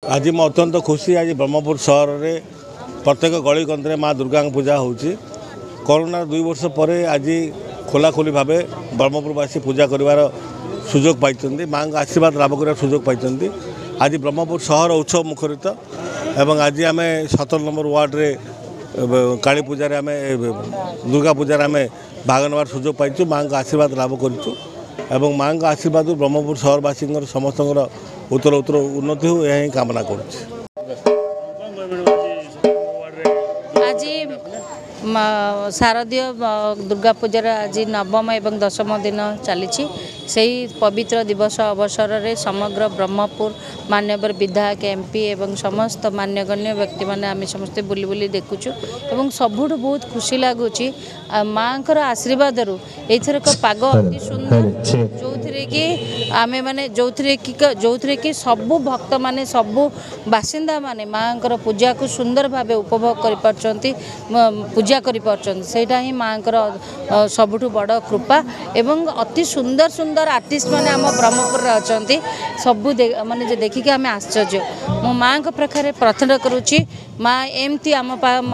ଆଜି ମୁଁ ଅତ୍ୟନ୍ତ ଖୁସି। ଆଜି ବ୍ରହ୍ମପୁର ସହରରେ ପ୍ରତ୍ୟେକ ଗଳିକନ୍ଦିରେ ମା ଦୁର୍ଗାଙ୍କ ପୂଜା ହେଉଛି। କରୋନାର 2 ବର୍ଷ ପରେ ଆଜି ଖୋଲାଖୋଲି ଭାବେ ବ୍ରହ୍ମପୁରବାସୀ ପୂଜା କରିବାର ସୁଯୋଗ ପାଇଛନ୍ତି, ମାଆଙ୍କ ଆଶୀର୍ବାଦ ଲାଭ କରିବାର ସୁଯୋଗ ପାଇଛନ୍ତି। ଆଜି ବ୍ରହ୍ମପୁର ସହର ଉତ୍ସବ ମୁଖରିତ ଏବଂ ଆଜି ଆମେ 17 ନମ୍ବର ୱାର୍ଡ଼ରେ କାଳୀ ପୂଜାରେ, ଆମେ ଦୁର୍ଗା ପୂଜାରେ ଆମେ ଭାଗ ନେବାର ସୁଯୋଗ ପାଇଛୁ, ମାଆଙ୍କ ଆଶୀର୍ବାଦ ଲାଭ କରିଛୁ ଏବଂ ମାଆଙ୍କ ଆଶୀର୍ବାଦରୁ ବ୍ରହ୍ମପୁର ସହରବାସୀଙ୍କର ସମସ୍ତଙ୍କର ଉତ୍ତର ଉତ୍ତର ଉନ୍ନତି ହେଉ, ଏହା ହିଁ କାମନା କରୁଛି। ଆଜି ଶାରଦୀୟ ଦୁର୍ଗା ପୂଜାର ଆଜି ନବମ ଏବଂ ଦଶମ ଦିନ ଚାଲିଛି। ସେହି ପବିତ୍ର ଦିବସ ଅବସରରେ ସମଗ୍ର ବ୍ରହ୍ମପୁର ମାନ୍ୟବର ବିଧାୟକ, ଏମ୍ ପି ଏବଂ ସମସ୍ତ ମାନ୍ୟଗଣ୍ୟ ବ୍ୟକ୍ତିମାନେ ଆମେ ସମସ୍ତେ ବୁଲି ବୁଲି ଦେଖୁଛୁ ଏବଂ ସବୁଠୁ ବହୁତ ଖୁସି ଲାଗୁଛି ମାଆଙ୍କର ଆଶୀର୍ବାଦରୁ ଏଇଥରକ ପାଗ ଅତି ସୁନ୍ଦର, ଯେଉଁଥିରେ କି ଆମେମାନେ ଯେଉଁଥିରେ କି ସବୁ ଭକ୍ତମାନେ, ସବୁ ବାସିନ୍ଦାମାନେ ମାଆଙ୍କର ପୂଜାକୁ ସୁନ୍ଦର ଭାବେ ଉପଭୋଗ କରିପାରୁଛନ୍ତି, ପୂଜା କରିପାରୁଛନ୍ତି। ସେଇଟା ହିଁ ମାଆଙ୍କର ସବୁଠୁ ବଡ଼ କୃପା। ଏବଂ ଅତି ସୁନ୍ଦର ସୁନ୍ଦର ଆର୍ଟିଷ୍ଟ ମାନେ ଆମ ବ୍ରହ୍ମପୁରରେ ଅଛନ୍ତି, ସବୁ ମାନେ ଯେ ଦେଖିକି ଆମେ ଆଶ୍ଚର୍ଯ୍ୟ। ମୁଁ ମାଆଙ୍କ ପାଖରେ ପ୍ରାର୍ଥନା କରୁଛି, ମା ଏମିତି ଆମ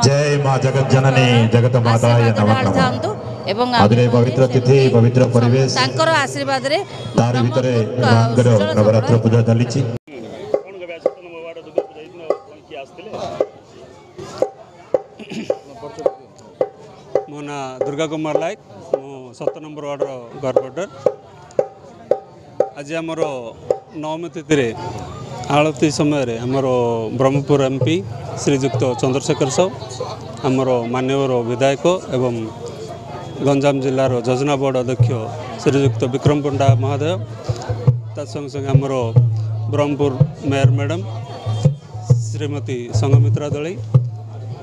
ଜୟ ମା ଜଗତ ଜନନୀ ଜଗତ ମାତାୟ ନମଃ ଥାନ୍ତୁ ଏବଂ ପବିତ୍ର ତିଥି, ପବିତ୍ର ପରିବେଶ, ତାଙ୍କର ଆଶୀର୍ବାଦରେ ତାରି ଭିତରେ ମାଙ୍କର ନବରାତ୍ର ପୂଜା ଚାଲିଛି। ମୋ ନାଁ ଦୁର୍ଗା କୁମାର ନାୟକ, ମୁଁ 7 ନମ୍ବର ୱାର୍ଡ଼ର କର୍ପୋରେଟର। ଆଜି ଆମର ନବମୀ ତିଥିରେ ଆଳତୀ ସମୟରେ ଆମର ବ୍ରହ୍ମପୁର ଏମ୍ ପି ଶ୍ରୀଯୁକ୍ତ ଚନ୍ଦ୍ରଶେଖର ସାହୁ, ଆମର ମାନ୍ୟବର ବିଧାୟକ ଏବଂ ଗଞ୍ଜାମ ଜିଲ୍ଲାର ଯୋଜନା ବୋର୍ଡ଼ ଅଧ୍ୟକ୍ଷ ଶ୍ରୀଯୁକ୍ତ ବିକ୍ରମ ପଣ୍ଡା ମହୋଦୟ, ତା ସଙ୍ଗେ ସଙ୍ଗେ ଆମର ବ୍ରହ୍ମପୁର ମେୟର ମ୍ୟାଡ଼ାମ୍ ଶ୍ରୀମତୀ ସଂଘମିତ୍ରା ଦଳେଇ,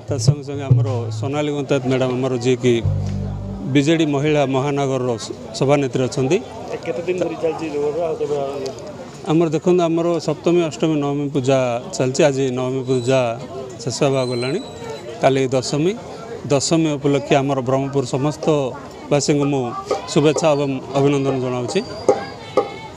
ତା ସଙ୍ଗେ ସଙ୍ଗେ ଆମର ସୋନାଲି ଗନ୍ତାୟତ ମ୍ୟାଡ଼ାମ୍, ଆମର ଯିଏକି ବିଜେଡ଼ି ମହିଳା ମହାନଗରର ସଭାନେତ୍ରୀ ଅଛନ୍ତି। କେତେ ଦିନ ଧରି ଚାଲିଛି? ଆମର ଦେଖନ୍ତୁ, ଆମର ସପ୍ତମୀ, ଅଷ୍ଟମୀ, ନବମୀ ପୂଜା ଚାଲିଛି। ଆଜି ନବମୀ ପୂଜା ଶେଷ ହେବାକୁ ଗଲାଣି, କାଲି ଦଶମୀ। ଦଶମୀ ଉପଲକ୍ଷେ ଆମର ବ୍ରହ୍ମପୁର ସମସ୍ତ ବାସୀଙ୍କୁ ମୁଁ ଶୁଭେଚ୍ଛା ଏବଂ ଅଭିନନ୍ଦନ ଜଣାଉଛି।